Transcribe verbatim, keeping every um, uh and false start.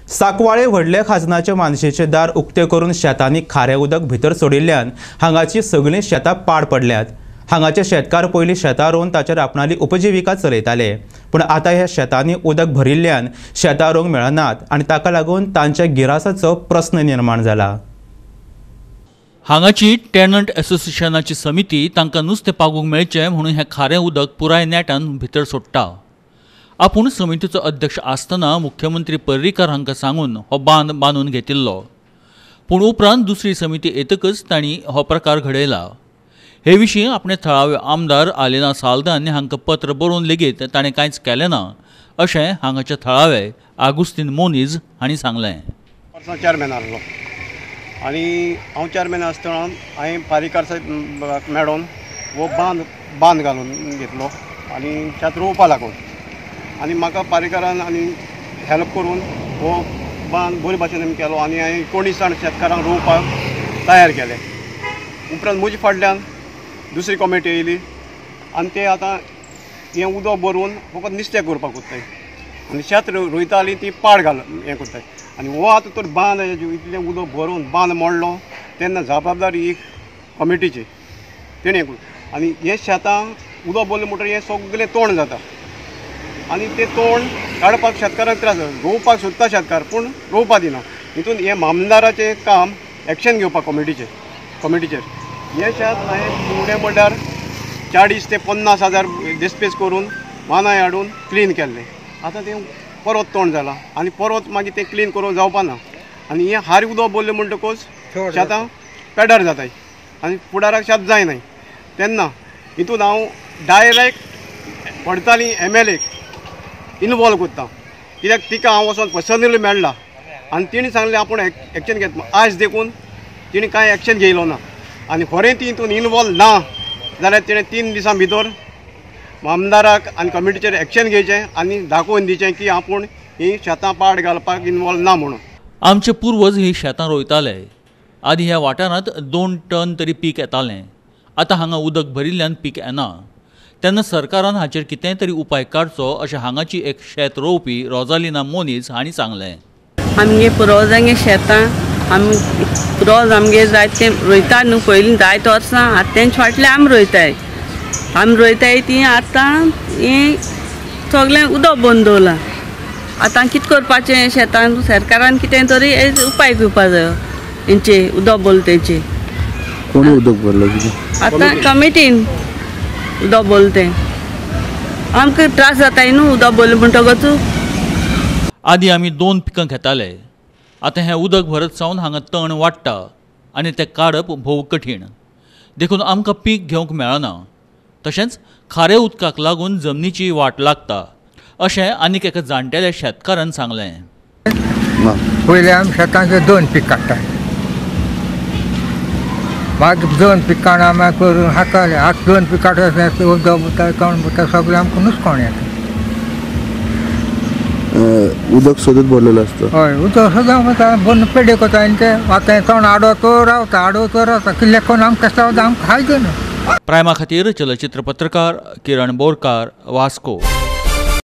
साकवाळे व्हडले खाजनाचे मानशेचे दार उक्ते करून शेतांनी खारें उदक भितर सोडिल्ल्यान हांगाची सगळीं शेतां पाड पडल्यात। हांगाचे शेतकार पयलीं शेतां रोवन ताचेर आपणाली उपजिविका चलयताले, पूण आतां ह्या शेतांनी उदक भरिल्ल्यान शेतां रोवंक मेळनात आनी ताका लागून तांच्या गिरासाचो प्रस्न निर्माण जाला। हांगाची टेनंट एसोसिएशनाची समिती तांकां नुस्तें पागूंक मेळचें म्हणून हें खारें उदक पुराय नेटान भितर सोडटा। आपूण समितीचो अध्यक्ष आसतना मुख्यमंत्री पर्रीकार हांकां सांगून हो बांद बांदून घेतिल्लो, पूण उपरांत दुसरी समिती येतकच तांणी हो प्रकार घडयला। हे विशीं आपणे थळावे आमदार आलेना साल्दान हांकां पत्र बरोवन लेगीत ताणें कांयच केलें ना अशें हांगाचे थळावे आगुस्तीन मोनीज हांणी सांगलें। चेअरमॅन आसलो आनी हांव चेअरमॅन आसतना हांवें पारीकार साहेब मेळोन हो बांद बांद घालून घेतलो आनी शेत रोवपा लागून आनी म्हाका पारीकारान आनी हेल्प करून हो बांद बरे भाशेन आमी केलो आनी हांवें एकोणीस जाण शेतकारांक रोवपाक तयार केले। उपरांत म्हजे फाटल्यान दुसरी कॉमिटी येयली आनी ते आतां हें उदक भरून फकत नुस्तें करपाक कोत्ताय आनी शेत रोयताली ती पाड घाल हें करताय आनी हो आतां तर बांद इतलें उदक भरून बांद मोडलो तेन्ना जबाबदारी ही कॉमिटीची तेणें आनी हे शेतां उदक भरलें म्हणटकीर हें सगळें तोंड जाता आनी तें तोंड काडपाक शेतकारांक त्रास जाता। रोवपाक सोदता शेतकार पूण रोवपा दिना। हितून हें मामदाराचें काम एक्शन घेवपाक कॉमिटीचेर कॉमिटीचेर हें शेत हांवें उणें म्हणल्यार चाळीस ते पन्नास हजार डिस्पेस करून मानाय हाडून क्लीन केल्लें। आतां तें परत तोंड जालां आनी परत मागीर तें क्लीन करूंक जावपा ना आनी हें हार उदक भरलें म्हणटकूच शेतां पेड्ड्यार जाताय आनी फुडाराक शेत जायनाय। तेन्ना हितून हांव डायरेक्ट पडताली एम एल एक इनवॉल्व करता कित्याक तिका हांव वचोन पर्सनली मेळ्ळा आनी तिणें सांगलें आपूण एक्शन घेत आयज देखून तिणें कांय एक्शन घेयलो ना आनी खरें ती हितून इनवॉल्व ना जाल्यार तिणें तीन दिसां भितर आमदाराक आनी कमिटीचेर एक्शन घेवचें आनी दाखोवन दिवचें की आपूण ही शेतां पाड घालपाक इनवॉल्व ना म्हणून। आमचे पूर्वज ही शेतां रोयताले। आदी ह्या वाठारांत दोन टन तरी पीक येतालें, आतां हांगा उदक भरिल्ल्यान पीक येना। तेन्ना सरकारान हाचेर कितेंय तरी उपाय काडचो अशें हांगाची एक शेत रोवपी रोजालिना मोनीज हांणी सांगलें। आमगे पुर्वजांगे शेतां आमी रोज आमगे जाय तें रोयता न्हू, पयलीं जायते वर्सां आतां तेंचे फाटल्यान आमी रोयताय आमी रोयताय ती आतां हें सगळें उदक बंद दवरलां। आतां कितें करपाचें शेतान सरकारान कितें तरी उपाय घेवपा जायो हेंचे उदक भरलें तेंचे। कोणी उदक भरलें? आतां कमिटीन उदक भरलें तें आमकां त्रास जाताय न्हू उदक भरलें म्हणटकच। आदी आमी दोन पिकां घेताले, आतां हें उदक भरत सावन हांगा तण वाडटा आनी तें काडप भोव कठीण, देखून आमकां पीक घेवंक मेळना। तशेंच खारे उदकाक लागून जमनीची वाट लागता अशें आनीक एका जाणटेल्या शेतकारान सांगलें। पयलीं आमी शेतांचे दोन पीक काडटा, मागीर दोन पीक काडून आमी करून हाताले। आतां दोन पीक काडटा उदक बुता तण बुता सगळें आमकां नुस्कोण येता। उदक सदत भरलेलें आसता? हय, उदक सदां वता भरून पेडे करता आनी तें आतां तण आडो तो रावता आडो तो रावता किल्ले कोण आमकां कशें आमकां खायचो न्हू। प्रायमा खातीर चलचित्र पत्रकार किरण बोरकार, वास्को।